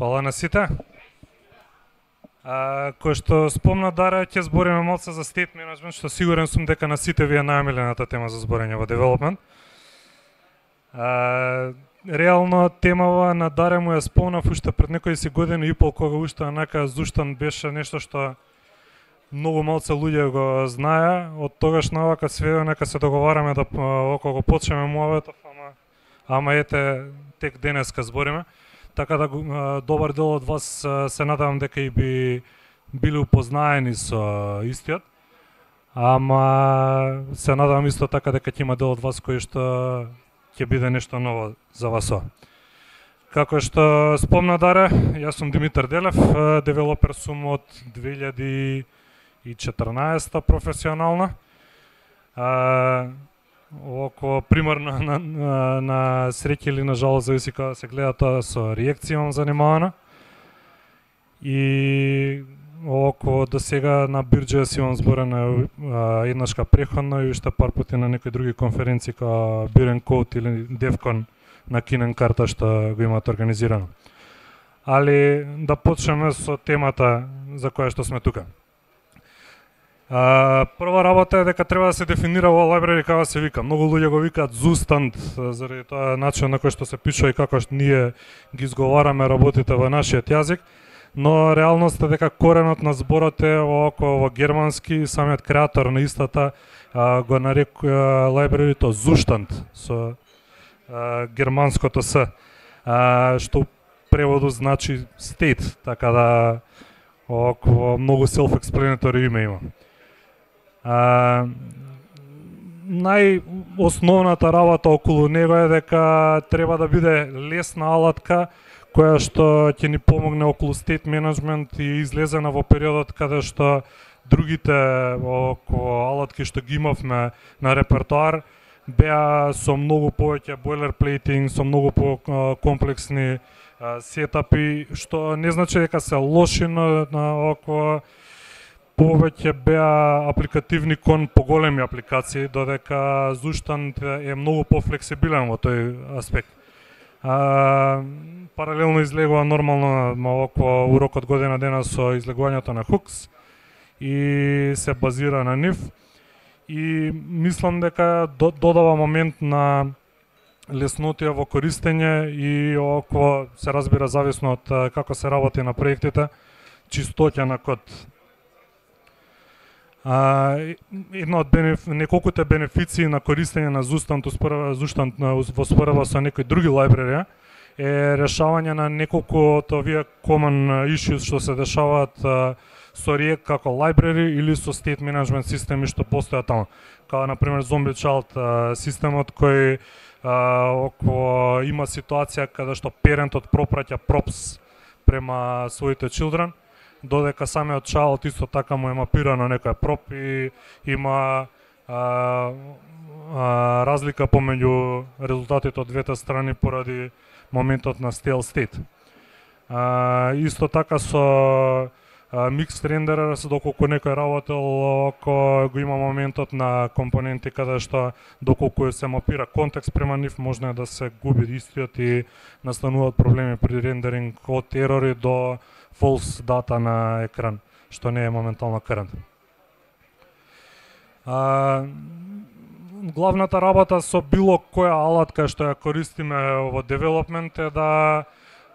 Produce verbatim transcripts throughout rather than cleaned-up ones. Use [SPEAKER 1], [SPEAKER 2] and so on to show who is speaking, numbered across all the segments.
[SPEAKER 1] Фала на сите. А, кој што спомна Даре, ќе збориме малце за state management, што сигурен сум дека на сите ви е најомилената тема за зборење во development. А, реално темава на Даре му ја спомнав уште пред некои си години и пол, кога уште онака Зуштан беше нешто што многу малце луѓе го знае. Од тогаш навака све нека се договараме да околу го почнеме муаветов, ама ама ете тек денеска збориме. Така да добар дел од вас се надевам дека и би били упознаени со истиот. Ама се надевам исто така дека ќе има дел од вас кој што ќе биде нешто ново за вас. Како што спомна Даре, јас сум Димитар Делев, девелопер сум од две илјади и четрнаесета професионална. А, Око примерно на, на, на среќа или на жалост, зависи кога се гледа тоа, со реакција имам занимавана. И око до сега на Бирџеја си имам зборена еднашка преходно и уште пар пати на некои други конференции како Бирен Код или Девкон на Кинен карта што го имаат организирано. Али да почнеме со темата за која што сме тука. Uh, прва работа е дека треба да се дефинира ова library како се вика. Многу луѓе го викаат Zustand заради тоа начин на кој што се пишува и како што ние ги изговараме работите во нашиот јазик, но реалноста е дека коренот на зборот е око во германски, самиот креатор на истата uh, го нарекува library-то Zustand со uh, германското с, uh, што преводу значи state, така да око многу self-explanatory име има. А, најосновната работа околу него е дека треба да биде лесна алатка која што ќе ни помогне околу state management и излезена во периодот каде што другите околу алатки што ги имавме на репертоар беа со многу повеќе boilerplating, со многу по-комплексни сетапи, што не значи дека се лоши, но на околу повеќе беа апликативни кон поголеми апликации, додека Zustand е многу пофлексибилен во тој аспект. А, паралелно излегува нормално около урокот година дена со излегувањето на Hooks и се базира на нив. И мислам дека додава момент на леснотија во користење и около се разбира зависно од како се работи на проектите, чистоќа на код. А, една од бенеф... неколкуте бенефиции на користење на Zustand, Zustand во споредба со некои други library е решавање на неколку од овие common issues што се дешаваат а, со React како library или со state management системи што постојат таму. Као на пример Zombie Child а, системот кој а, око има ситуација каде што парентот пропраќа props према своите children, додека самиот child исто така му е мапирано некој проп и има а, а, разлика помеѓу резултатите од двете страни поради моментот на stale state. А, исто така со а, mixed renderer, доколку некој работел ако го има моментот на компоненти каде што доколку се мапира контекст према нив, може да се губи истиот и настануваат проблеми при рендеринг од ерори до false дата на екран, што не е моментално current. А, главната работа со било која алатка што ја користиме во development е да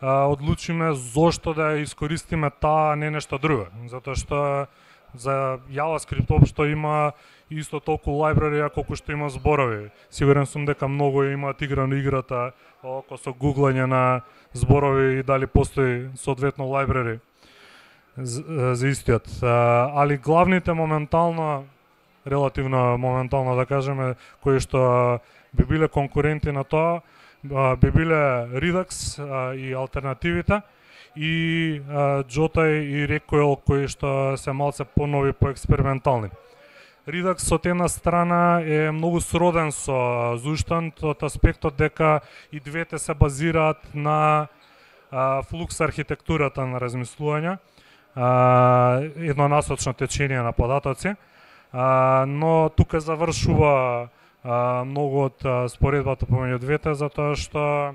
[SPEAKER 1] а, одлучиме зошто да ја искористиме таа, а не нешто друго. Затоа што за JavaScript општо има исто толку library колку што има зборови. Сигурен сум дека многу имаат играно играта око со гуглање на зборови и дали постои соодветно library за, за истиот. А, али главните моментално, релативно моментално да кажеме, кои што би биле конкуренти на тоа, би биле Redux а, и алтернативите и а, Jota и Recoil кои што се малце понови, поекспериментални. Redux од една страна е многу сроден со Zustand од аспектот дека и двете се базираат на а, флукс архитектурата на размислување, а, еднонасочно течение на податоци, а, но тука завршува а, многу од а, споредбата помеѓу двете, затоа што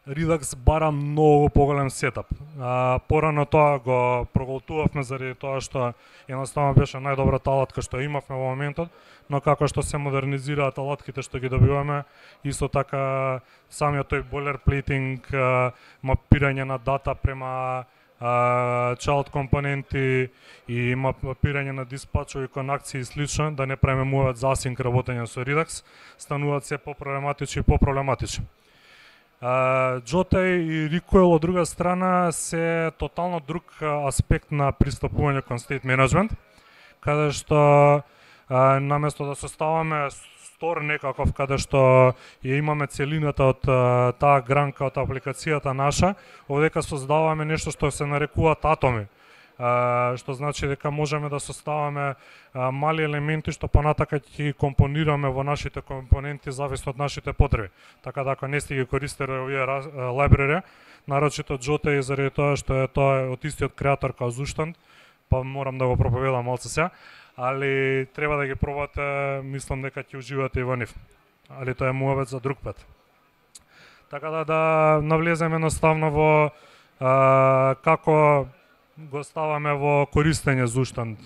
[SPEAKER 1] Redux бара многу поголем сетап. А, порано тоа го проголтувавме заради тоа што едноставно беше најдобрата алатка што имавме во моментот, но како што се модернизираат алатките што ги добиваме, исто така самиот тој boilerplating, мапирање на дата према Uh, child компоненти и мапирање на диспачови конакции и слично, да не премемуваат за асинк работење со Redux, стануваат се по-проблематични и по-проблематични. Uh, Jotei и Recoil од друга страна се тотално друг аспект на пристапување кон state management, каде што uh, наместо да составаме стор некаков каде што ја имаме целината од uh, таа гранка од апликацијата наша, овдека создаваме нешто што се нарекуваат атоми, uh, што значи дека можеме да составаме uh, мали елементи што понатака ќе ги компонираме во нашите компоненти зависно од нашите потреби. Така да ако не сте ги користеле овие лайбрари, нарочито Jotei заради тоа што е тоа од истиот креатор као Zustand, па морам да го проповедам малце сега, али треба да ги пробате, мислам дека ќе уживате и во нив. Али тоа е муавет за друг пат. Така да да навлеземе едноставно во а, како го ставаме во користење Zustand.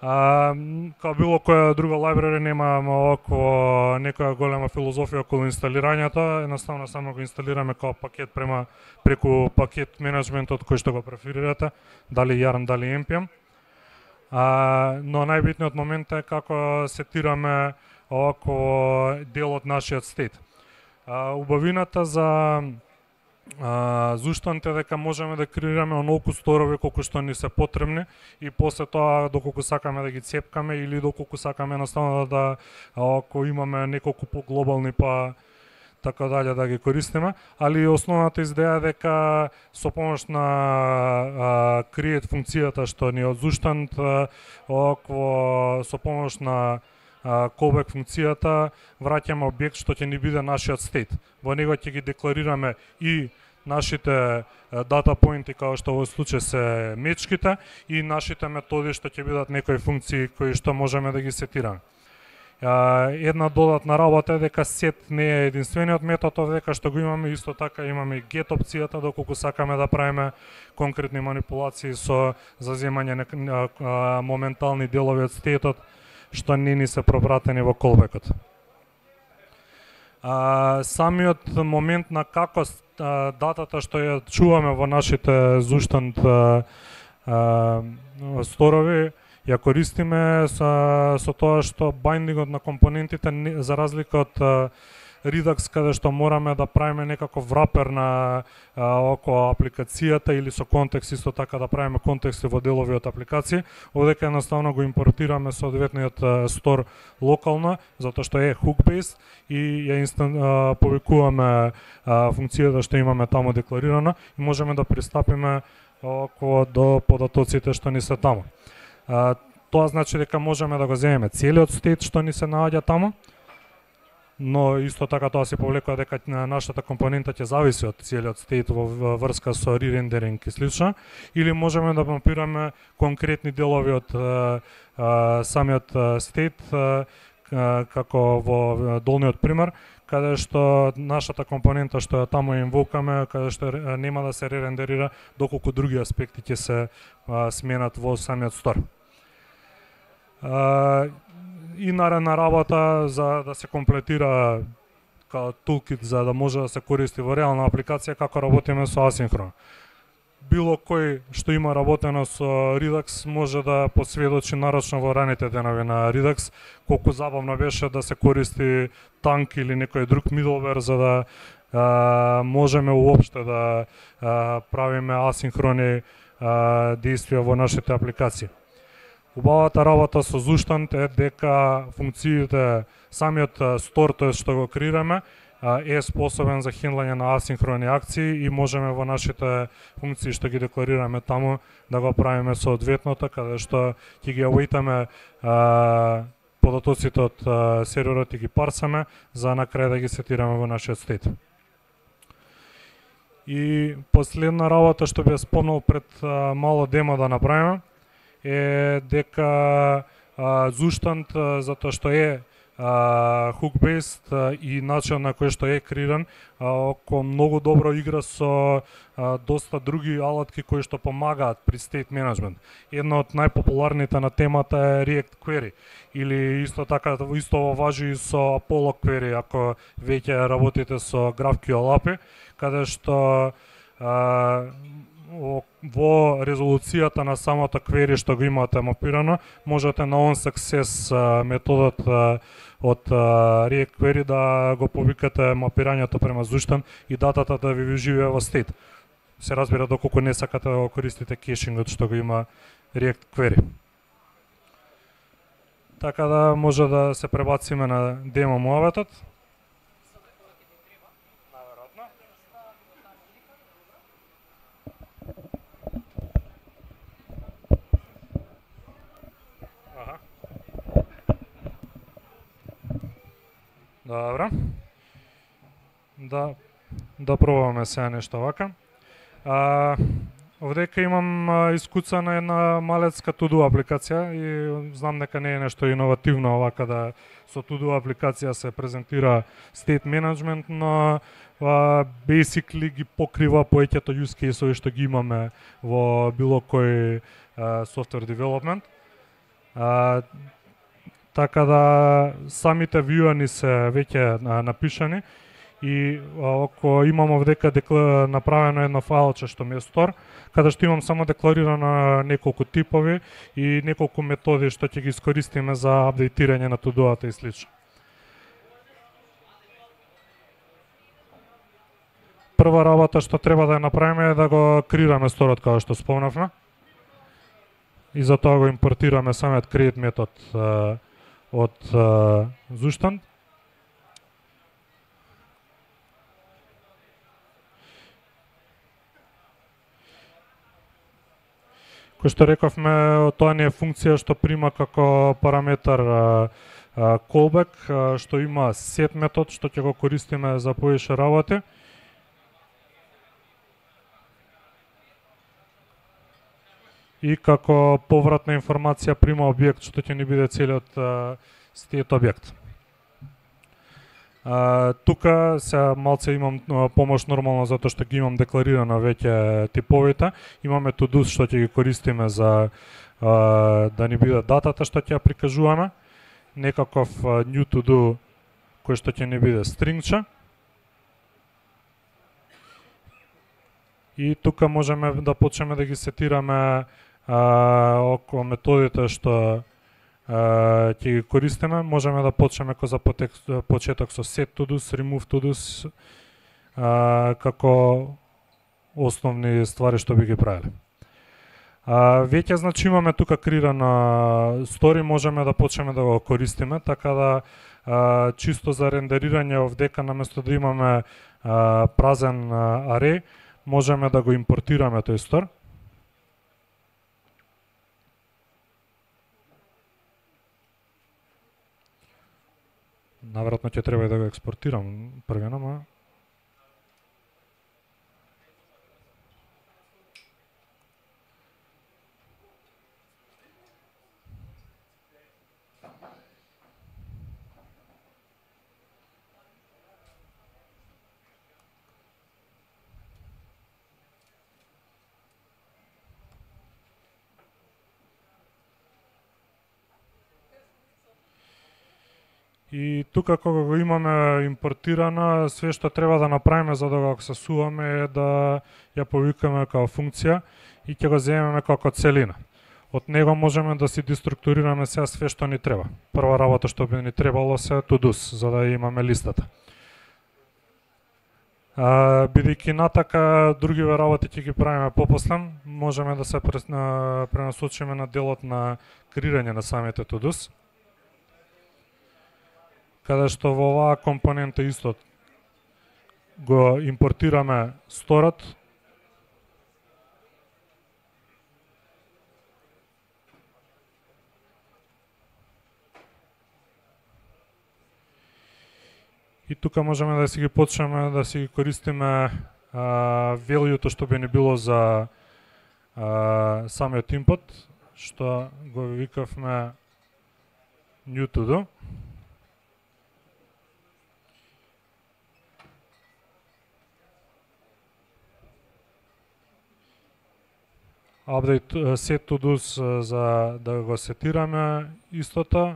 [SPEAKER 1] А, као било која друга лайбрари немаме околу некоја голема филозофија околу инсталирањето, едноставно само го инсталираме као пакет према преку пакет менеджментот кој што го преферирате, дали Yarn, дали Ен Пи Ем. А, но најбитниот момент е како сетираме околу дел од нашиот стейт. А, убавината за Zustand е дека можеме да креираме онолку сторови колку што ни се потребни и после тоа доколку сакаме да ги цепкаме или доколку сакаме едноставно да, ако имаме неколку поглобални па така дале да ги користиме, али основната идеја е дека со помош на а, create функцијата што ни од Zustand, околу со помош на а, callback функцијата враќаме објект што ќе ни биде нашиот state. Во него ќе ги декларираме и нашите дата поинти како што во случај се мечките и нашите методи што ќе бидат некои функции кои што можеме да ги сетираме. Една додатна работа е дека set не е единствениот метод, дека што го имаме исто така имаме и get опцијата доколку сакаме да правиме конкретни манипулации со заземање на моментални делови од стејтот што не ни се пропратени во callback-от. Самиот момент на како датата што ја чуваме во нашите Zustand сторови ја користиме со, со тоа што байндингот на компонентите за разлика од Redux каде што мораме да правиме некаков врапер на околу апликацијата или со контекст исто така да правиме контексти во делови од апликации, овдека едноставно го импортираме соодветниот стор локално затоа што е hook based и ја инстан, повикуваме функцијата што имаме таму декларирана и можеме да пристапиме околу до податоците што ни се таму. Uh, тоа значи дека можеме да го земеме целиот стейт што ни се наоѓа таму, но исто така тоа се повлекува дека нашата компонента ќе зависи од целиот стейт во врска со ререндеринг и слично, или можеме да мапираме конкретни делови од uh, uh, самиот стейт, uh, uh, како во долниот пример, каде што нашата компонента што ја таму инвокаме, каде што нема да се ререндерира доколку други аспекти ќе се uh, сменат во самиот стор. Uh, и наредна работа за да се комплетира као toolkit за да може да се користи во реална апликација како работиме со асинхрон. Било кој што има работено со Redux може да посведочи нарочно во раните денови на Redux колку забавно беше да се користи танк или некој друг middleware за да uh, можеме уопште да uh, правиме асинхрони uh, действија во нашите апликации. Убавата работа со Zustand е дека функциите, самиот стор, тој што го креираме, е способен за хендлање на асинхрони акции и можеме во нашите функции што ги декларираме таму да го правиме соодветното, каде што ќе ги await-аме податоците од серверот и ги парсаме за на крај да ги сетираме во нашиот стейт. И последна работа што би ја спомнал пред мало демо да направиме е дека Zustand, затоа што е hook-based и начин на кој што е креиран, око многу добро игра со а, доста други алатки кои што помагаат при state management. Една од најпопуларните на темата е React Query, или исто така исто важи и со Apollo Query ако веќе работите со GraphQL ей пи ай, каде што а, во резолуцијата на самото query што го имате мапирано, можете на onSuccess методот од React Query да го повикате мапирањето према зуштен и датата да ви живее во state. Се разбира доколку не сакате да го користите кешингот што го има React Query. Така да може да се пребациме на демо муаветот. Добро. Да да пробаме сега нешто вака. А, овдека имам а, искуцана една малецка to-do апликација и знам дека не е нешто иновативно овака да со to-do апликација се презентира state management, но а, basically ги покрива поеќето use case-ови што ги имаме во било кој а, software development. А, така да самите вјуани се веќе напишани и ако имам овдека декла... направено едно фајлче што ми е store, каде што имам само декларирано неколку типови и неколку методи што ќе ги искористиме за апдейтирање на to-do-ата и слично. Прва работа што треба да ја направиме е да го креираме сторот како што спомнавме. И за тоа го импортираме самиот create метод од Zustand. Кој што рековме, тоа не е функција што прима како параметар а, а, callback, а, што има set метод што ќе го користиме за повеќе работи. И како повратна информација прима објект што ќе ни биде целиот state објект. А, тука се малце имам помош нормално затоа што ги имам декларирано веќе типовите. Имаме to-do што ќе ги користиме за а, да ни биде датата што ќе ја прикажуваме, некаков а, new to-do кој што ќе ни биде стрингче. И тука можеме да почнеме да ги сетираме а, околу методите што Uh, ќе ги користиме. Можеме да почнеме ко за почеток со set to-dos, remove to-dos uh, како основни ствари што би ги правиле. Uh, веќе значи имаме тука креирана стори, можеме да почнеме да го користиме, така да uh, чисто за рендерирање овдека наместо да имаме uh, празен uh, array, можеме да го импортираме тој стор. Наверојатно ќе треба и да го експортирам првено, ама и тука кога го имаме импортирано, све што треба да направиме за да го аксесуваме е да ја повикаме како функција и ќе го земеме како целина. Од него можеме да си деструктурираме сега све што ни треба. Прва работа што би ни требало се to-dos, за да имаме листата. А, бидејќи натака другиве работи ќе ги правиме попосле, можеме да се пренасочиме на делот на креирање на самите to-dos, каде што во оваа компонента исто го импортираме сторот. И тука можеме да си ги почнеме да си ги користиме value-то што би ни било за а, самиот input, што го викавме new to do. update set to do's за да го сетираме истото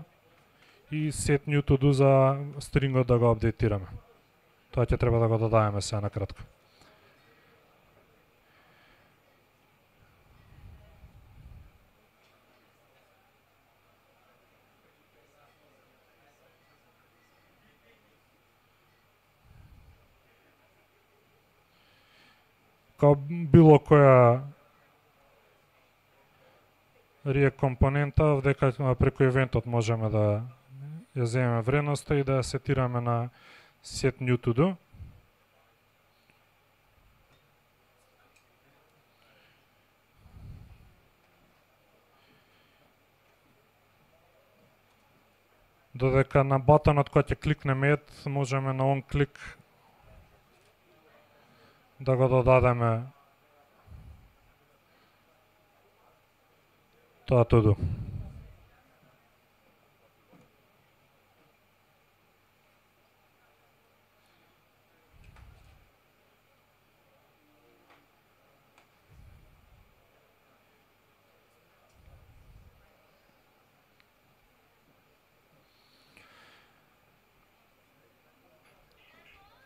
[SPEAKER 1] и set new to do за стрингот да го апдейтираме. Тоа ќе треба да го додадеме сега на кратко. Као било која React компонента, дека преку евентот можеме да ја земеме вредноста и да ја сетираме на set new to do. Додека на батонот кој ќе кликнеме add, можеме на он клик да го додадеме тоа to do.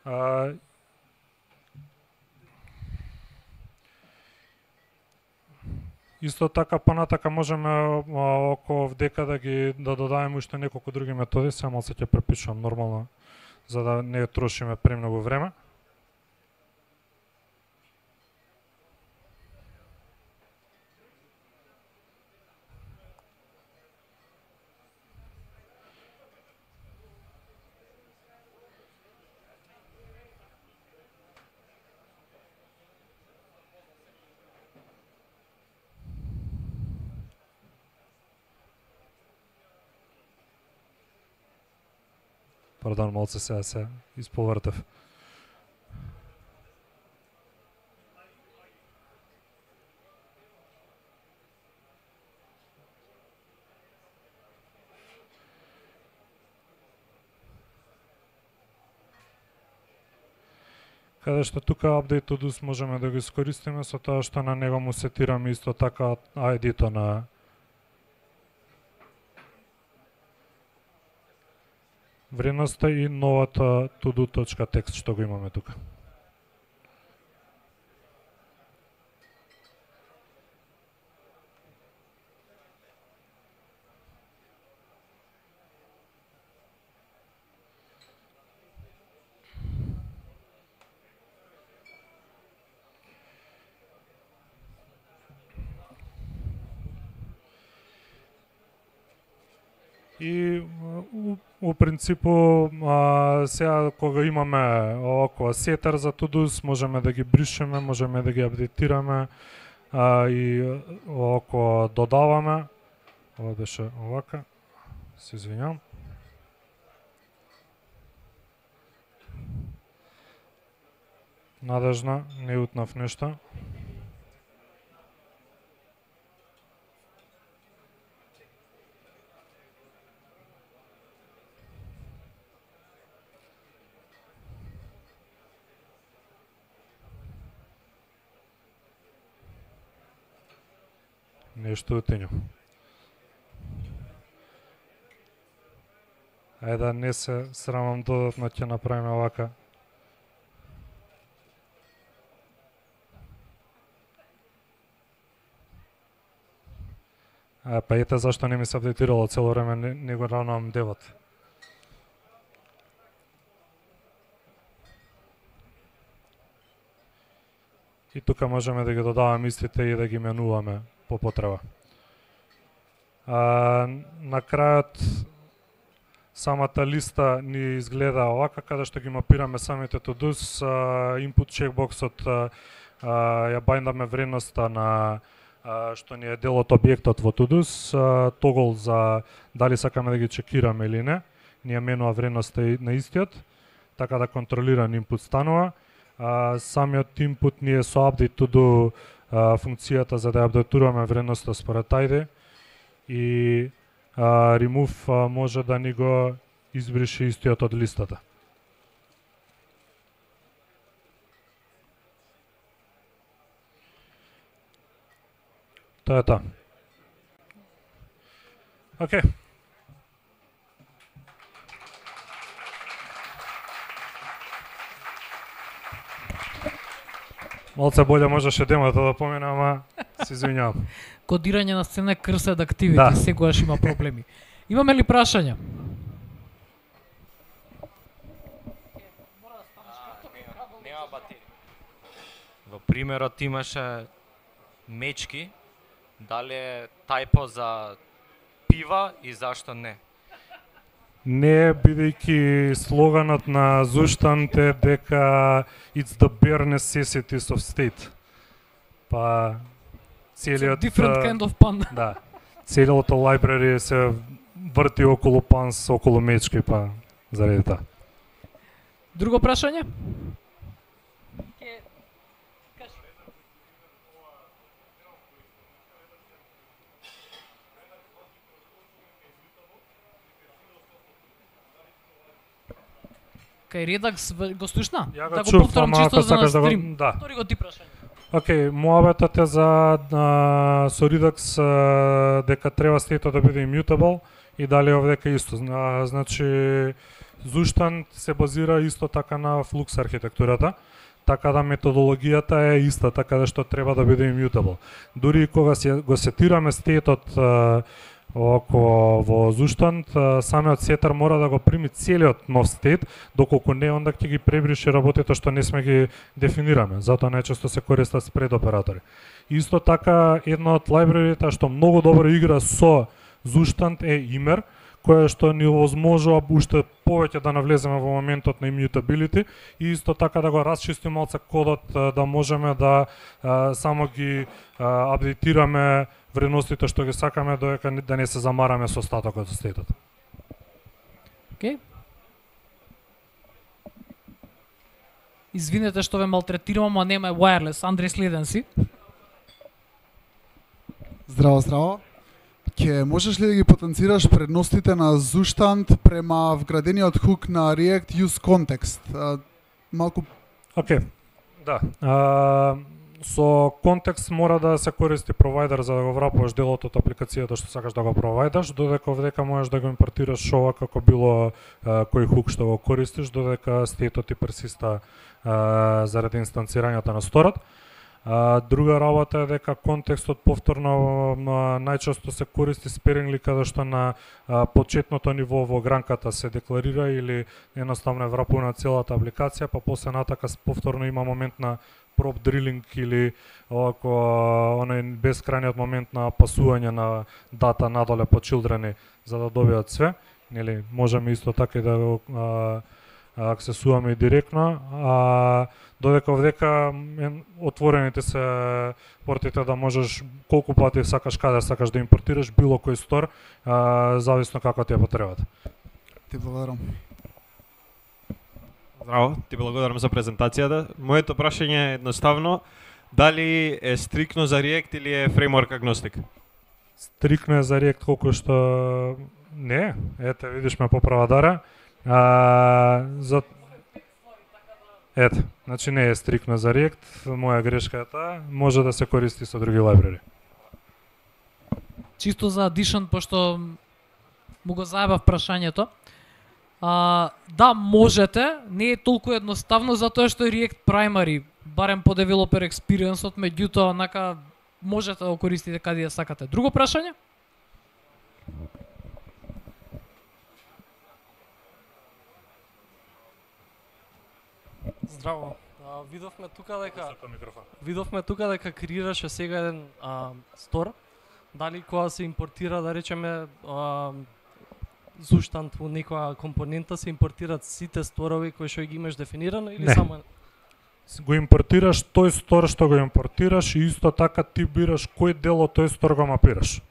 [SPEAKER 1] А, исто така понатака можеме околу дека да ги да додадеме уште неколку други методи, само се ќе препишувам нормално за да не трошиме премногу време. Пардон, малце сега се исповртев. Каде што тука update to do's можеме да го искористиме со тоа што на него му сетираме исто така ай ди-то на вредноста и новата to-do.text што го имаме тука. И у, у принципу а, сега кога имаме околу сетер за to do's, можеме да ги бришеме, можеме да ги апдейтираме а, и околу додаваме. Ова беше овака. Се извинјавам. Надежно, не утнав нешто. Нешто утењу. Ајде да не се срамам додатно, ќе направиме овака. А, па ете зашто не ми се апдейтирало цело време, не, не го равнам девот. И тука можеме да ги додаваме истите и да ги менуваме по потреба. А, на крајот самата листа ни изгледа овака, каде што ги мапираме самите to do's, input checkboxот ја бајндаме вредноста на а, што ни е дел од објектот во to do's, тогл за дали сакаме да ги чекираме или не, ни ја менува вредноста на истиот, така да контролиран input станува. А, самиот input ни е со update to do а, функцијата за да ја апдейтуваме вредноста според ай ди и а, remove а, може да ни го избрише истиот од листата. Тоа е тоа. Океј. Малце боле можеше демата да помине, ама се извинјавам.
[SPEAKER 2] Кодирање на сцена е cursed activity,
[SPEAKER 1] Да.
[SPEAKER 2] секогаш има проблеми. Имаме ли прашања?
[SPEAKER 3] Нема батерија. Во примерот имаше мечки, дали е тајпо за пива и зашто не?
[SPEAKER 1] Не, бидејќи слоганот на Zustand е дека it's the bare necessities of state. Па целиот
[SPEAKER 2] Different kind of pun.
[SPEAKER 1] да, целото library се врти околу панс, околу мечки, па заради тоа.
[SPEAKER 2] Друго прашање? Кај Redux го слушна?
[SPEAKER 1] Ја го
[SPEAKER 2] Да го
[SPEAKER 1] чув,
[SPEAKER 2] повторам
[SPEAKER 1] ама
[SPEAKER 2] чисто
[SPEAKER 1] ако
[SPEAKER 2] за на
[SPEAKER 1] сакаш да го-
[SPEAKER 2] стрим.
[SPEAKER 1] да.
[SPEAKER 2] Повтори го ти прашање.
[SPEAKER 1] Океј, муабетот е за а, со Redux а, дека треба стејтот да биде immutable и дали овдека исто. А, значи Zustand се базира исто така на Flux архитектурата, така да методологијата е иста, така да што треба да биде immutable. Дури и кога се го сетираме стејтот а, око во Zustand, а, самиот сетер мора да го прими целиот нов стейт, доколку не, онда ќе ги пребрише работите што не сме ги дефинираме. Затоа најчесто се користат спред оператори. Исто така, една од лайбрерите што многу добро игра со Zustand е Imer, која што ни овозможува уште повеќе да навлеземе во моментот на immutability и исто така да го расчистиме малце кодот, да можеме да а, само ги а, апдейтираме вредностите што ги сакаме, додека да не се замараме со остатокот од стејтот.
[SPEAKER 2] Океј. Извинете што ве малтретирам, ама нема wireless. Андреј, следен си.
[SPEAKER 4] Здраво, здраво. Ке можеш ли да ги потенцираш предностите на Zustand према вградениот хук на React Use Context? А, малку
[SPEAKER 1] Океј. Да. А, со контекст мора да се користи провайдер за да го врапуваш делот од апликацијата што сакаш да го провајдаш, додека овдека можеш да го импортираш ова како било а, кој хук што го користиш, додека стејтот ти персиста а, заради инстанцирањето на сторот. А, друга работа е дека контекстот повторно а, најчесто се користи сперингли каде што на а, почетното ниво во гранката се декларира или едноставно е врапувана целата апликација, па после натака повторно има момент на prop drilling или овако оној бескрајниот момент на пасување на дата надоле по children за да добијат све, нели можеме исто така и да го а, аксесуваме и директно, а додека овдека отворените се портите да можеш колку пати сакаш, каде сакаш да импортираш било кој стор, а, зависно како ти е потребата.
[SPEAKER 4] ти благодарам.
[SPEAKER 5] Здраво, ти благодарам за презентацијата. Моето прашање е едноставно, дали е стрикно за React или е фреймворк агностик?
[SPEAKER 1] Стрикно е за React колку што не, ете видиш ме поправа Дара. А, за Ете, значи не е стрикно за React, моја грешка е таа, може да се користи со други лайбрери.
[SPEAKER 2] Чисто за addition, пошто му го заебав прашањето. А, да, можете, не е толку едноставно затоа што е React Primary, барем по developer experience-от, меѓутоа онака можете да го користите каде ја сакате. Друго прашање?
[SPEAKER 6] Здраво. А, видовме тука дека видовме тука дека креираше сега еден а, стор. Дали кога се импортира, да речеме, а, Zustand во некоја компонента се импортираат сите сторови кои што ги имаш дефинирано или
[SPEAKER 1] Не.
[SPEAKER 6] само
[SPEAKER 1] Го импортираш тој стор што го импортираш и исто така ти бираш кој дел од тој стор го мапираш.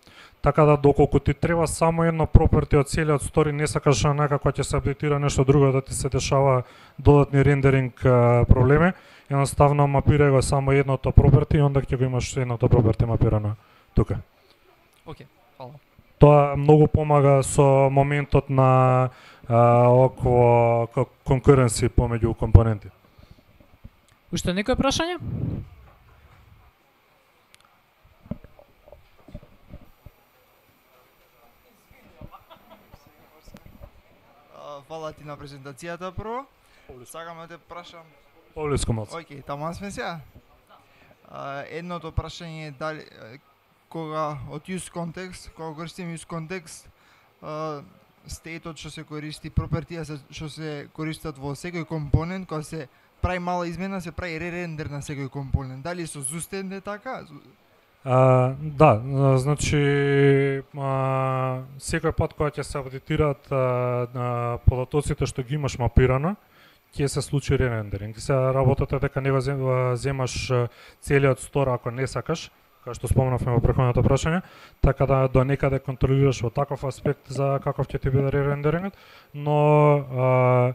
[SPEAKER 1] Така да доколку ти треба само едно проперти од целиот стори, не сакаш некако ќе се апдейтира нешто друго да ти се дешава додатни рендеринг а, проблеми, едноставно мапирај го само едното проперти и онда ќе го имаш едното проперти мапирано тука.
[SPEAKER 6] Океј, фала.
[SPEAKER 1] Тоа многу помага со моментот на а, околу конкуренци помеѓу компоненти.
[SPEAKER 2] Уште некој прашање?
[SPEAKER 7] А, Фала ти на презентацијата прво. Сакам да те прашам.
[SPEAKER 1] Повлиско малце.
[SPEAKER 7] Океј, таман сме сега. А, едното прашање е дали е, кога од use context, кога користиме use context, а, стејтот што се користи, пропертија се што се користат во секој компонент, кога се прави мала измена, се прави ререндер на секој компонент. Дали со Zustand е така?
[SPEAKER 1] А, да, а, значи а, секој пат кога ќе се апдейтираат а, а, податоците што ги имаш мапирано, ќе се случи ререндеринг. Се работата дека не го земаш целиот стор ако не сакаш, како што спомнавме во претходното прашање, така да до некаде контролираш во таков аспект за каков ќе ти биде ререндерингот, но а,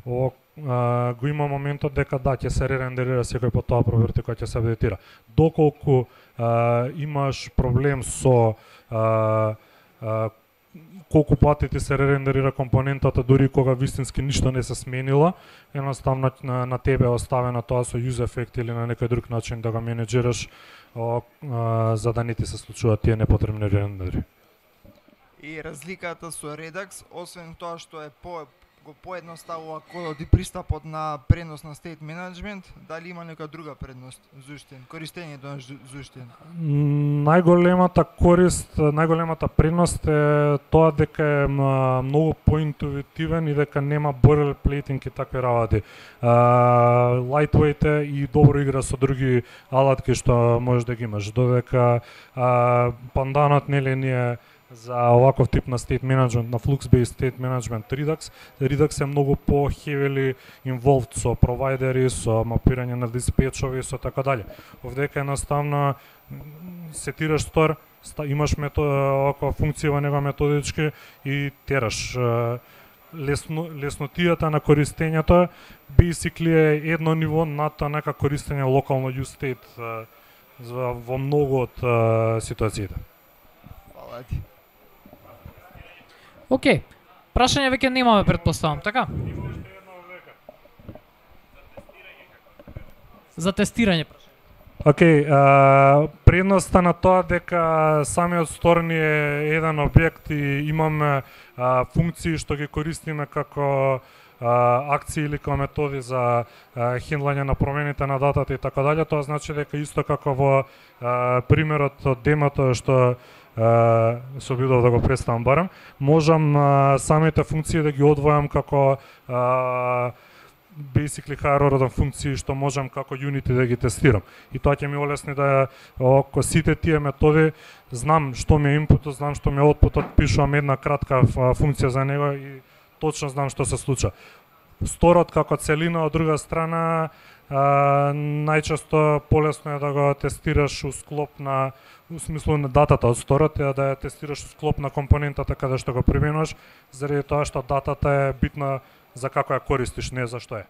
[SPEAKER 1] о, а, го има моментот дека да, ќе се ререндерира секој по тоа проверти која ќе се апдейтира. Доколку а, имаш проблем со а, а, колку пати ти се ререндерира компонентата дури кога вистински ништо не се сменило, едноставно на, на тебе е оставено тоа со use effect или на некој друг начин да го менеджираш о, а, за да не ти се случуваат тие непотребни ререндери.
[SPEAKER 7] И разликата со Redux, освен тоа што е по го поедноставува кодот и пристапот на пренос на state management, дали има нека друга предност Zustand, користењето на Zustand?
[SPEAKER 1] Најголемата корист, најголемата предност е тоа дека е многу поинтуитивен и дека нема boilerplating и такви работи. Uh, lightweight е и добро игра со други алатки што можеш да ги имаш, додека uh, панданот нели ние за оваков тип на state management, на Flux-based state management Redux, Redux е многу по heavily involved со провайдери, со мапирање на диспетчови, со така дале. Овдека едноставно сетираш стор, имаш метод, оваква функција во него методички и тераш. Лесно, леснотијата на користењето basically е едно ниво над тоа нека користење локално use state во многу од ситуациите.
[SPEAKER 7] Фала ти.
[SPEAKER 2] Океј. Прашање веќе немаме, претпоставам, така? За тестирање.
[SPEAKER 1] Океј, okay, предноста на тоа дека самиот стор ни е еден објект и имаме а, функции што ги користиме како а, акции или како методи за а, хендлање на промените на датата и така дале, тоа значи дека исто како во а, примерот од демото што Uh, се обидов да го представам барем, можам uh, самите функции да ги одвојам како uh, basically higher order функции што можам како Unity да ги тестирам. И тоа ќе ми олесни да ако сите тие методи знам што ми е инпутот, знам што ми е outputот, пишувам една кратка функција за него и точно знам што се случува. Сторот како целина од друга страна Uh, најчесто полесно е да го тестираш у склоп на, у смислу на датата од сторот, е да ја тестираш у склоп на компонентата каде што го применуваш, заради тоа што датата е битна за како ја користиш, не за што е.